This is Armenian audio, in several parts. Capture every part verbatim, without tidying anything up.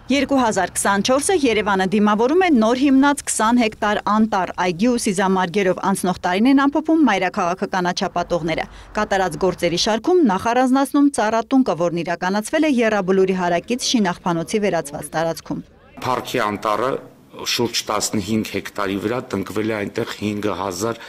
երկու հազար քսանչորսը Երևանը դիմավորում է նոր հիմնած քսան հեկտար անտառ այգի ու սիզամարգերով անցնող տարին են ամփոփում մայրաքաղաքը կանաչապատողները։ Կատարած գործերի շարքում նախ առանձնացնում ծառատունկը, որն իրականացվել է Եռաբլուրի հարակից Շինաղբանոցի վերածված տարածքում։ Փառքի անտառը շուրջ տասնհինգ հեկտարի վրա տնկվել է այնտեղ հինգ հազար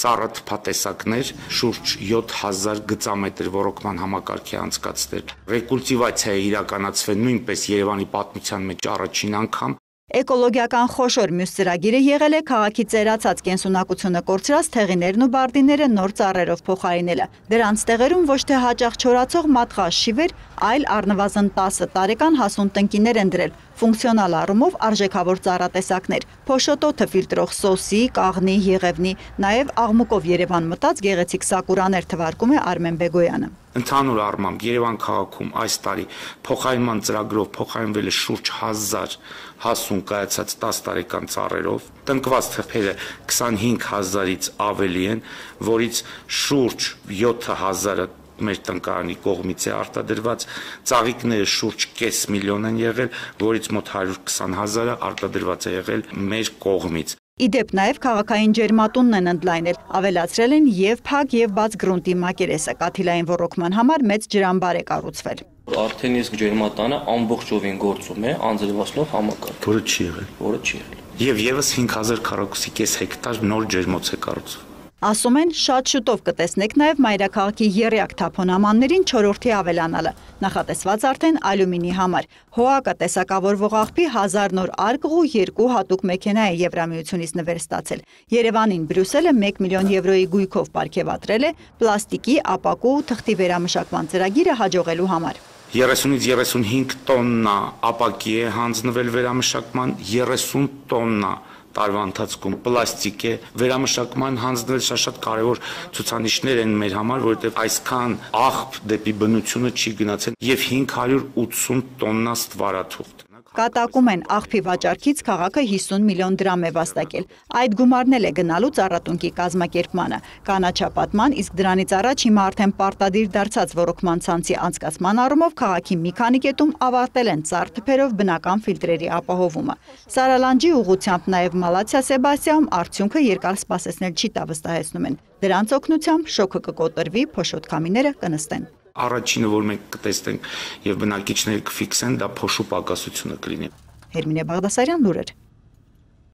ծառաթփատեսակներ, շուրջ յոթ հազար գծամետր ոռոգման համակարգի անցկացնել։ Ռեկուլտիվացիա է իրականացվել նույնպես Երևանի պատմության մեջ առաջին անգամ։ Էկոլոգիական խոշոր մյուս ծրագիրը եղել է քաղաքի ծերացած կենսունակությունը կորցրած թեղիներն ու բարդիները նոր ծառերով փոխարինելը։ Դրանց տեղերում ոչ թե հաճախ չորացող մատղաշ շիվեր, այլ առնվազն տասը տարեկան հասուն տնկիներ են դրել, ֆունկցիոնալ առումով արժեքավոր ծառատեսակներ, փոշոտոթը ֆիլտրող սոսի, կաղնի, եղևնի, նաև աղմուկով Երևան մտած գեղեցիկ սակուրաներ թվարկում է Արմեն Բեգոյանը։ Ընդհանուր առմամբ Երևան քաղաքում այս տարի փոխարինման ծրագրով փոխարինվել է շուրջ հազար հասուն կայացած տասը տարեկան ծառերով, տնկված թփերը քսանհինգ հազարից ավելի են, որից շուրջ յոթ հազարը մեր տնկարանի կողմից է արտադրված, ծաղիկները շուրջ կես միլիոն են եղել, որից մոտ հարյուր քսան հազարը արտադրված է եղել մեր կողմից։ Իդեպ նաև քաղաքային ջերմատունն են ընդլայնել, ավելացրել են եւ փակ եւ բաց գրունտի մակերեսը, կաթիլային ոռոգման համար մեծ ջրամբար է կառուցվել։ Արդեն իսկ ջերմատանը ամբողջովին գործում է անձրևացնող համակարգ, որը չի եղել, որը չի եղել։ Եվ եւս հինգ հազար քառակուսի կես հեկտար նոր ջերմոց է կառուցվում։ Ասում են, շատ շուտով կտեսնեք նաև մայրաքաղաքի եռյակ թափոնամաններին չորրորդի ավելանալը, նախատեսված արդեն ալյումինի համար։ ՀՕԱԿ-ը տեսակավորվող աղբի հազար նոր արկղ ու երկու հատուկ մեքենա է Եվրամիությունից նվեր ստացել։ Երևանին Բրյուսելը մեկ միլիոն եվրոյի գույքով պարգևատրել է պլաստիկի, ապակու ու թղթի վերամշակման ծրագիրը հաջողելու համար։ երեսունից երեսունհինգ տոննա ապակի է հանձնվել վերամշակման, երեսուն տոննա տարվա ընթացքում պլաստիկ է վերամշակման հանձնել, շատ կարևոր ցուցանիշներ են մեր համար, որովհետև այսքան աղբ դեպի բնությունը չի գնացել եւ հինգ հարյուր ութսուն տոննա ստվարաթուղթ։ Կատակում են աղբի վաճառքից քաղաքը հիսուն միլիոն դրամ է վաստակել։ Այդ գումարն էլ է գնալու ծառատունկի կազմակերպմանը, կանաչապատման, իսկ դրանից առաջ հիմա արդեն պարտադիր դարձած ոռոգման ցանցի անցկացման առումով քաղաքի մի քանի կետում ավարտել են ծառ թփերով բնական ֆիլտրերի ապահովումը։ Սարալանջի ուղղությամբ նաև Մալացիա Սեբաստիայում արդյունքը երկար սպասեցնել չի տա, վստահեցնում են։ Դրանց օգնությամբ շոկը կկոտրվի, փոշոտ քամիները կնստեն։ Առաջինը, որ մենք կտեսնենք եւ բնակիչները կֆիքսեն, դա փոշու պակասությունը կլինի։ Հերմինե Բաղդասարյան, լուրեր։